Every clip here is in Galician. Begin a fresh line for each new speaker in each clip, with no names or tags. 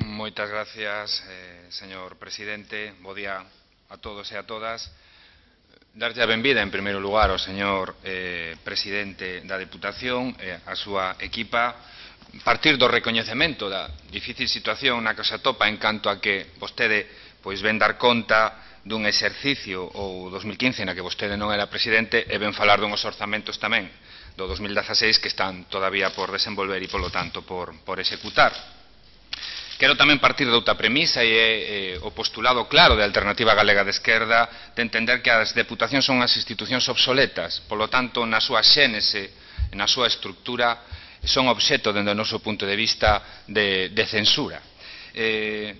Moitas gracias, señor presidente. Bo día a todos e a todas. Darlle a benvida, en primeiro lugar, ao señor presidente da Deputación e a súa equipa. Partir do recoñecemento da difícil situación na que se atopa en canto a que vostede ven dar conta dun exercicio ou 2015 na que vostede non era presidente e ven falar dunhos orzamentos tamén do 2016 que están todavía por desenvolver e, polo tanto, por executar. Quero tamén partir de outra premisa e é o postulado claro de Alternativa Galega de Esquerda de entender que as deputacións son as institucións obsoletas, polo tanto, na súa xénese, na súa estructura, son obxecto, dende o noso punto de vista, de censura.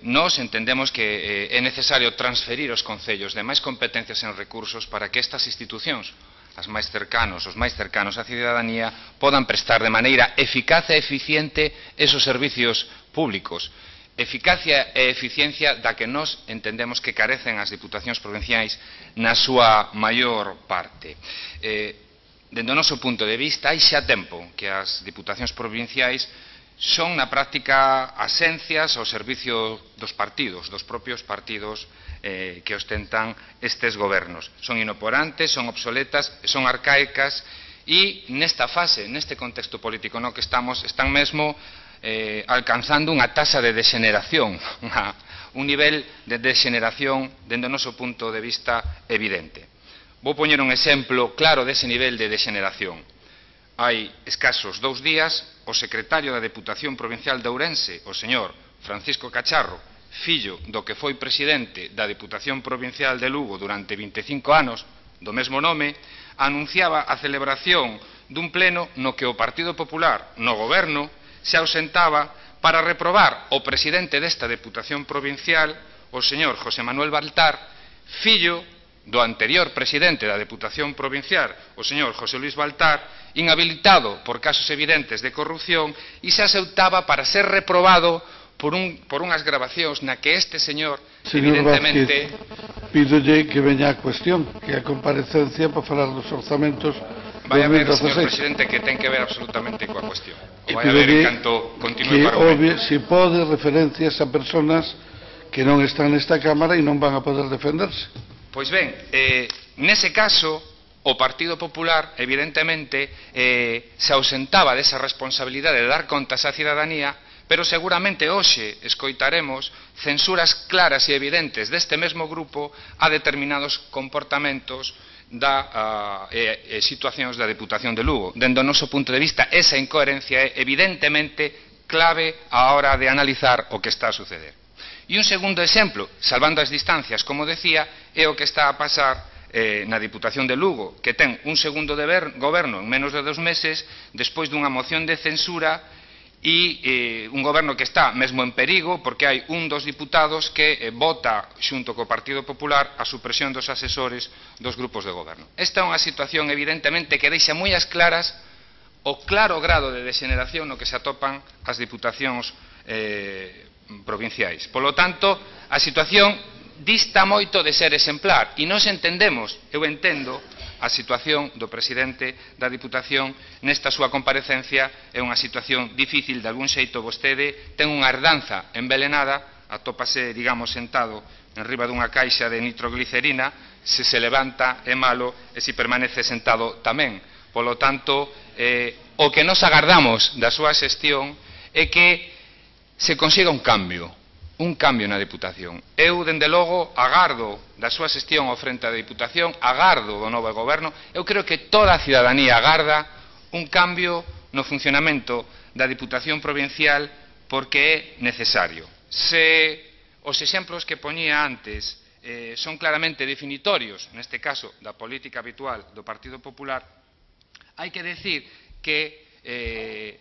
Nós entendemos que é necesario transferir aos concellos de máis competencias en recursos para que estas institucións, os máis cercanos á cidadanía, podan prestar de maneira eficaz e eficiente esos servicios públicos. Eficacia e eficiencia da que nós entendemos que carecen as diputacións provinciais na súa maior parte. Dende o noso punto de vista, hai xa tempo que as diputacións provinciais son na práctica asencias ao servicio dos partidos, dos propios partidos que ostentan estes gobernos. Son inoperantes, son obsoletas, son arcaicas e nesta fase, neste contexto político no que estamos, están mesmo alcanzando unha taxa de degeneración, un nivel de degeneración dende o noso punto de vista evidente. Vou poñer un exemplo claro dese nivel de degeneración. Hai escasos 2 días, o secretario da Deputación Provincial de Ourense, o señor Francisco Cacharro, fillo do que foi presidente da Deputación Provincial de Lugo durante 25 anos, do mesmo nome, anunciaba a celebración dun pleno no que o Partido Popular, no goberno, se ausentaba para reprobar o presidente desta Deputación Provincial, o señor José Manuel Baltar, fillo do anterior presidente da Deputación Provincial, o señor José Luís Baltar, inhabilitado por casos evidentes de corrupción e se ausentaba para ser reprobado por unhas grabacións na que este señor, evidentemente...
Pídolle que veña a cuestión, que a comparecencia para falar dos orzamentos 2016.
Vai a ver, señor presidente, que ten que ver absolutamente coa cuestión. O vai a ver en canto continúe para o
momento. Se pode referencias a personas que non están nesta Cámara e non van a poder defenderse.
Pois ben, nese caso, o Partido Popular, evidentemente, se ausentaba desa responsabilidade de dar contas á cidadanía, pero seguramente hoxe escoitaremos censuras claras e evidentes deste mesmo grupo a determinados comportamentos e situacións da Deputación de Lugo. Dende o noso punto de vista, esa incoherencia é evidentemente clave á hora de analizar o que está a suceder. E un segundo exemplo, salvando as distancias, como decía, é o que está a pasar na Deputación de Lugo, que ten un segundo goberno en menos de 2 meses, despois dunha moción de censura e un goberno que está mesmo en perigo porque hai un dos diputados que vota xunto co Partido Popular a supresión dos asesores dos grupos de goberno. Esta é unha situación evidentemente que deixa moi as claras o claro grado de degeneración no que se atopan as diputacións provinciais. Polo tanto, a situación dista moito de ser exemplar e nós entendemos, eu entendo, a situación do presidente da Diputación nesta súa comparecencia é unha situación difícil, de algún xeito vostede ten unha herdanza envelenada, atópase, digamos, sentado enriba dunha caixa de nitroglicerina, se levanta é malo e se permanece sentado tamén. Polo tanto, o que nos agardamos da súa xestión é que se consiga un cambio na Deputación. Eu, dende logo, agardo da súa xestión ao frente da Deputación, agardo do novo goberno, eu creo que toda a cidadanía agarda un cambio no funcionamento da Deputación Provincial porque é necesario. Se os exemplos que poñía antes son claramente definitorios, neste caso, da política habitual do Partido Popular, hai que decir que,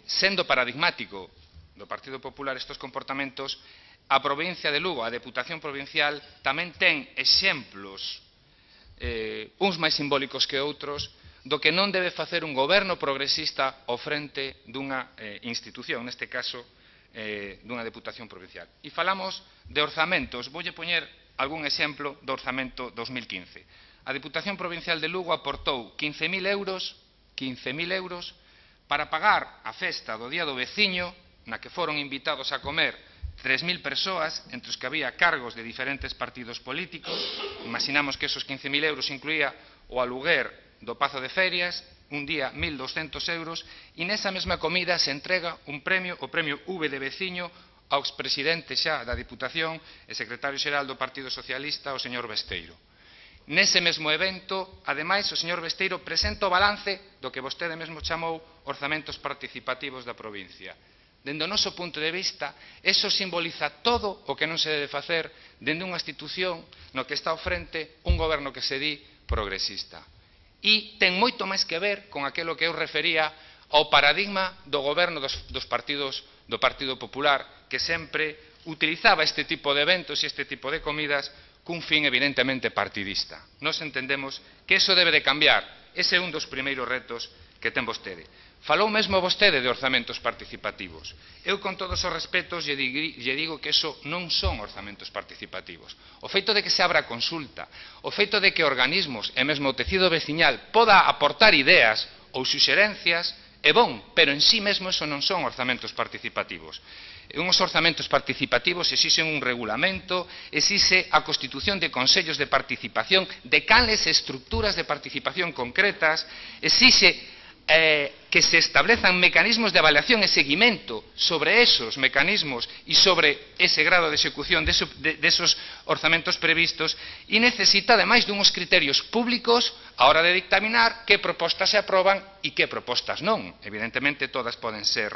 sendo paradigmático do Partido Popular estes comportamentos, a provincia de Lugo, a Deputación Provincial, tamén ten exemplos, uns máis simbólicos que outros, do que non debe facer un goberno progresista ao frente dunha institución, neste caso, dunha Deputación Provincial. E falamos de orzamentos, voulle poñer algún exemplo do orzamento 2015. A Deputación Provincial de Lugo aportou 15.000 euros para pagar a festa do Día do Veciño, na que foron invitados a comer 3.000 persoas, entre os que había cargos de diferentes partidos políticos. Imaginamos que esos 15.000 euros incluía o aluguer do Pazo de Ferias, un día 1.200 euros, e nesa mesma comida se entrega un premio, o premio V de Veciño, ao expresidente xa da Diputación e secretario xeral do Partido Socialista, o señor Besteiro. Nese mesmo evento, ademais, o señor Besteiro presenta o balance do que vostede mesmo chamou orzamentos participativos da provincia. Dende o noso punto de vista, eso simboliza todo o que non se debe facer dende unha institución no que está ao frente un goberno que se di progresista. E ten moito máis que ver con aquilo que eu refería ao paradigma do goberno dos partidos do Partido Popular, que sempre utilizaba este tipo de eventos e este tipo de comidas cun fin evidentemente partidista. Nós entendemos que eso debe de cambiar. Ese é un dos primeiros retos que ten vostede. Falou mesmo vostede de orzamentos participativos. Eu, con todos os respetos, lle digo que eso non son orzamentos participativos. O feito de que se abra consulta, o feito de que organismos e mesmo o tecido veciñal poda aportar ideas ou suxerencias é bon, pero en sí mesmo eso non son orzamentos participativos. Uns orzamentos participativos exixen un regulamento, exixe a constitución de consellos de participación, de canles e estructuras de participación concretas, exixe que se establezan mecanismos de avaliación e seguimento sobre esos mecanismos e sobre ese grado de execución desos orzamentos previstos, e necesita ademais dunhos criterios públicos a hora de dictaminar que propostas se aproban e que propostas non. Evidentemente todas poden ser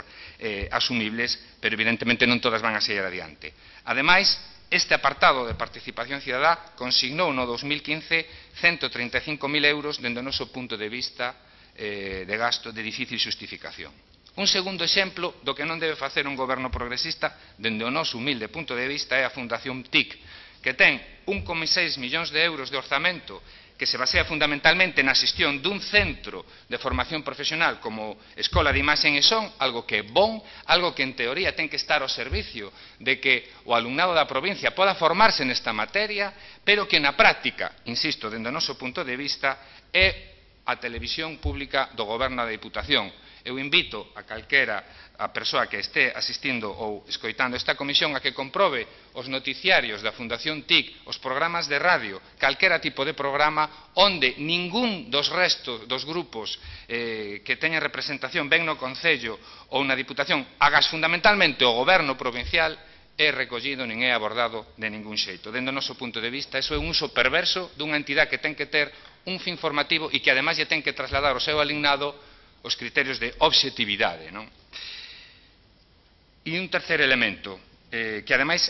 asumibles, pero evidentemente non todas van a seguir adiante. Ademais, este apartado de participación cidadá consignou no 2015 135.000 euros dende o noso punto de vista de gasto de difícil xustificación. Un segundo exemplo do que non debe facer un goberno progresista, dende o noso humilde punto de vista, é a Fundación TIC, que ten 1,6 millóns de euros de orzamento, que se basea fundamentalmente na xestión dun centro de formación profesional como Escola de Imaxe e Son, algo que é bon, algo que en teoría ten que estar ao servicio de que o alumnado da provincia poda formarse nesta materia, pero que na práctica, insisto, dende o noso punto de vista, é a televisión pública do goberno da Diputación. Eu invito a calquera a persoa que este asistindo ou escoitando esta comisión a que comprobe os noticiarios da Fundación TIC, os programas de radio, calquera tipo de programa onde ningún dos restos dos grupos que teñen representación ben no Concello ou na Diputación, agas fundamentalmente o goberno provincial, é recollido nin é abordado de ningún xeito. Dende o noso punto de vista, iso é un uso perverso dunha entidade que ten que ter un fin formativo e que ademais lle ten que trasladar ao seu alignado os criterios de obxectividade. E un terceiro elemento, que ademais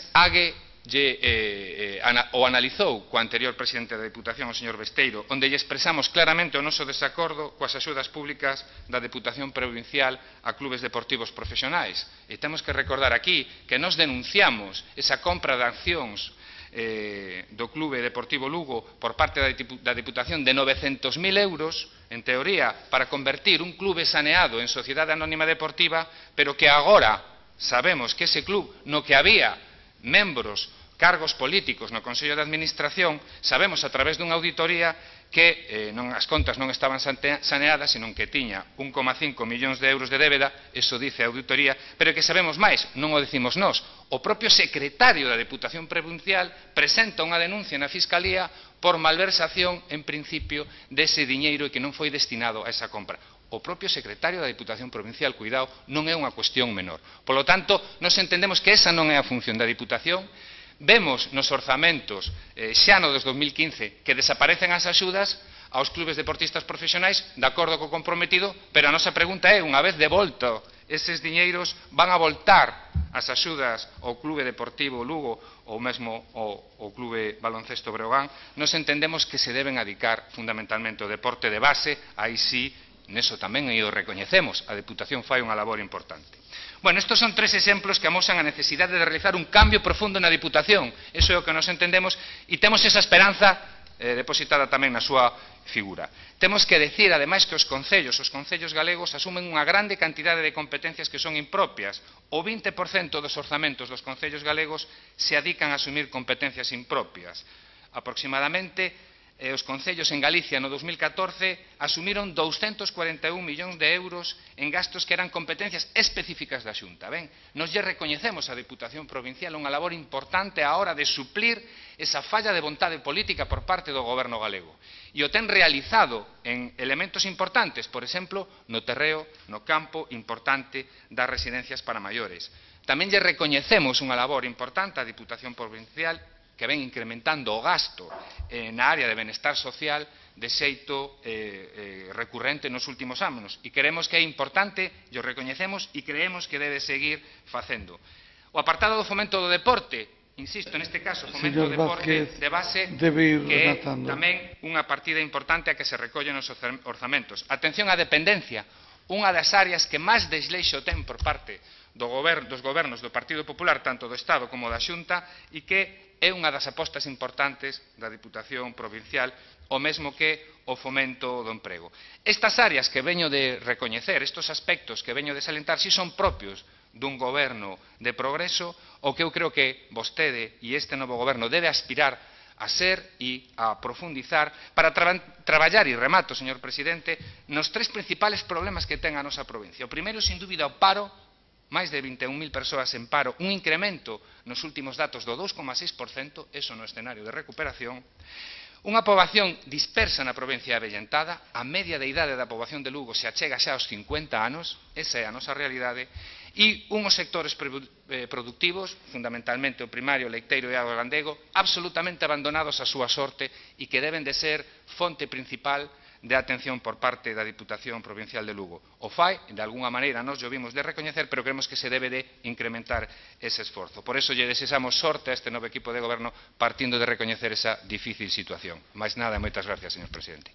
o analizou co anterior presidente da Diputación, o señor Besteiro, onde lle expresamos claramente o noso desacordo coas axudas públicas da Deputación Provincial a clubes deportivos profesionais. E temos que recordar aquí que nos denunciamos esa compra de accións do Clube Deportivo Lugo por parte da Diputación de 900.000 euros, en teoría, para convertir un clube saneado en sociedade anónima deportiva, pero que agora sabemos que ese club, no que había membros, cargos políticos no Consello de Administración, sabemos a través dunha auditoría que as contas non estaban saneadas, senón que tiña 1,5 millóns de euros de débeda, eso dice a auditoría, pero que sabemos máis, non o decimos nós. O propio secretario da Deputación Provincial presenta unha denuncia na Fiscalía por malversación, en principio, dese diñeiro e que non foi destinado a esa compra. O propio secretario da Diputación Provincial, cuidado, non é unha cuestión menor. Polo tanto, nos entendemos que esa non é a función da Diputación. Vemos nos orzamentos xa no 2015 que desaparecen as axudas aos clubes deportistas profesionais de acordo co comprometido, pero a nosa pregunta é, unha vez devolto eses diñeiros, van a voltar as axudas ao Clube Deportivo Lugo ou mesmo ao Clube Baloncesto Breogán? Nos entendemos que se deben adicar fundamentalmente ao deporte de base, aí sí, neso tamén o recoñecemos, a Deputación fai unha labor importante. Bueno, estes son tres exemplos que amosan a necesidade de realizar un cambio profundo na Diputación. Eso é o que nos entendemos e temos esa esperanza depositada tamén na súa figura. Temos que decir, ademais, que os concellos galegos asumen unha grande cantidade de competencias que son impropias. O 20% dos orzamentos dos concellos galegos se adican a asumir competencias impropias. Aproximadamente os concellos en Galicia no 2014 asumiron 241 millóns de euros en gastos que eran competencias específicas da Xunta. Ben, nos lle recoñecemos á Deputación Provincial unha labor importante á hora de suplir esa falla de vontade política por parte do Goberno galego. E o ten realizado en elementos importantes, por exemplo, no terreo, no campo importante das residencias para maiores. Tamén lle recoñecemos unha labor importante á Deputación Provincial que ven incrementando o gasto na área de benestar social de xeito recurrente nos últimos anos. E creemos que é importante, e o recoñecemos, e creemos que debe seguir facendo. O apartado do fomento do deporte, insisto, neste caso, fomento do deporte de base, que é tamén unha partida importante a que se recolle nos orzamentos. Atención á dependencia, unha das áreas que máis desleixo ten por parte dos gobernos do Partido Popular, tanto do Estado como da Xunta, e que é unha das apostas importantes da Deputación Provincial, o mesmo que o fomento do emprego. Estas áreas que veño de recoñecer, estes aspectos que veño de salientar, si son propios dun goberno de progreso, o que eu creo que vostede e este novo goberno debe aspirar a ser e a profundizar para traballar, e remato, señor presidente, nos tres principales problemas que ten a nosa provincia. O primeiro, sin dúbida, o paro, máis de 21.000 persoas en paro, un incremento nos últimos datos do 2,6%, eso no escenario de recuperación, unha poboación dispersa na provincia avellentada, a media de idade da poboación de Lugo se achega xa aos 50 anos, esa é a nosa realidade, e unhos sectores productivos, fundamentalmente o primario, o leiteiro e o gandego, absolutamente abandonados á súa sorte e que deben de ser fonte principal de atención por parte da Deputación Provincial de Lugo. O fai, de alguna maneira, nos o vimos de recoñecer, pero creemos que se debe de incrementar ese esforzo. Por eso lle desexamos sorte a este novo equipo de goberno partindo de recoñecer esa difícil situación. Máis nada e moitas gracias, señor presidente.